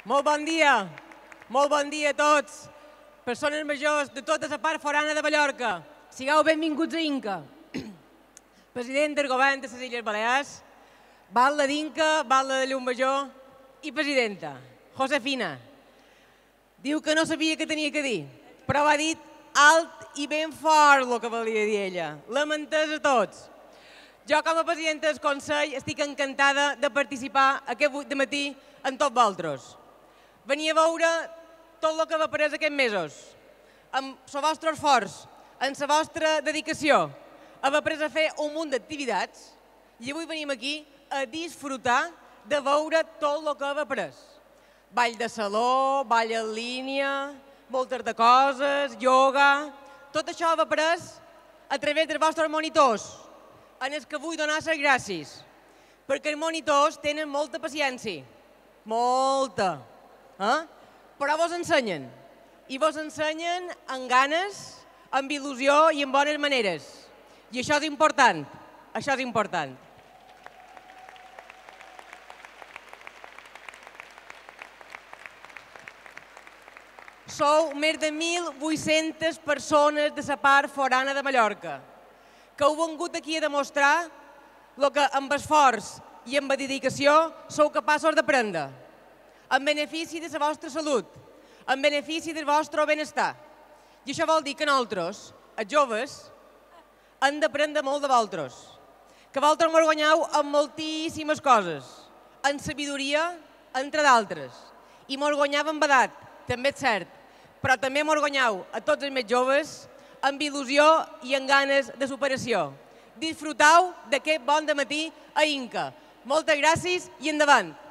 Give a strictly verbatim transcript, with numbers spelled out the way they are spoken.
Molt bon dia, molt bon dia a tots, persones majors de tota la part forana de Mallorca. Sigueu benvinguts a Inca. President del govern de les Illes Balears, batlle d'Inca, batlle de Llumajor i presidenta, Josefina. Diu que no sabia què tenia que dir, però ha dit alt i ben fort el que volia dir ella. Lamenters a tots. Jo, com a presidenta del Consell, estic encantada de participar aquest matí amb tots vosaltres. Venia a veure tot el que va après aquests mesos, amb el vostre esforç, amb la vostra dedicació. Hem après a fer un munt d'activitats i avui venim aquí a disfrutar de veure tot el que hem après. Ball de saló, ball en línia, moltes de coses, ioga... Tot això ho hem après a través dels vostres monitors, en els que vull donar les gràcies, perquè els monitors tenen molta paciència, molta, eh? Però vos ensenyen, i vos ensenyen amb ganes, amb il·lusió i amb bones maneres. I això és important, això és important. Sou més de mil vuit-centes persones de la part forana de Mallorca que heu vingut aquí a demostrar el que amb esforç i amb dedicació sou capaços d'aprendre, en benefici de la vostra salut, en benefici del vostre benestar. I això vol dir que nosaltres, els joves, hem d'aprendre molt de vosaltres, que vosaltres mos guanyeu en moltíssimes coses, en sabidoria, entre d'altres, i mos guanyeu amb edat, també és cert, però també mos guanyeu a tots els més joves amb il·lusió i amb ganes de superació. Disfruteu d'aquest bon dematí a Inca. Moltes gràcies i endavant!